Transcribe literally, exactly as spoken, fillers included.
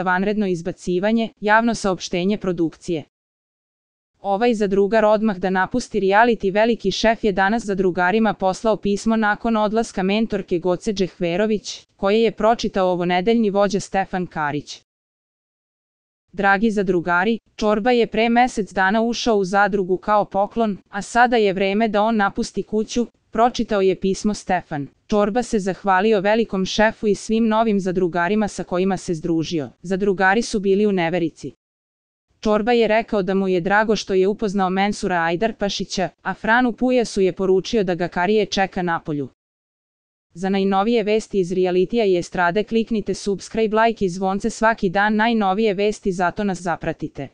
vanredno izbacivanje, javno saopštenje produkcije. Ovaj zadrugar odmah da napusti reality veliki šef je danas zadrugarima poslao pismo nakon odlaska mentorke Goce Džehverović, koje je pročitao ovonedeljni vođa Stefan Karić. Dragi zadrugari, Čorba je pre mesec dana ušao u zadrugu kao poklon, a sada je vreme da on napusti kuću, pročitao je pismo Stefan. Čorba se zahvalio velikom šefu i svim novim zadrugarima sa kojima se združio. Zadrugari su bili u neverici. Čorba je rekao da mu je drago što je upoznao Mensura Ajdarpašića, a Franu Pujasu je poručio da ga Karije čeka napolju. Za najnovije vesti iz realitija i estrade kliknite subscribe, like i zvonce svaki dan, najnovije vesti, zato nas zapratite.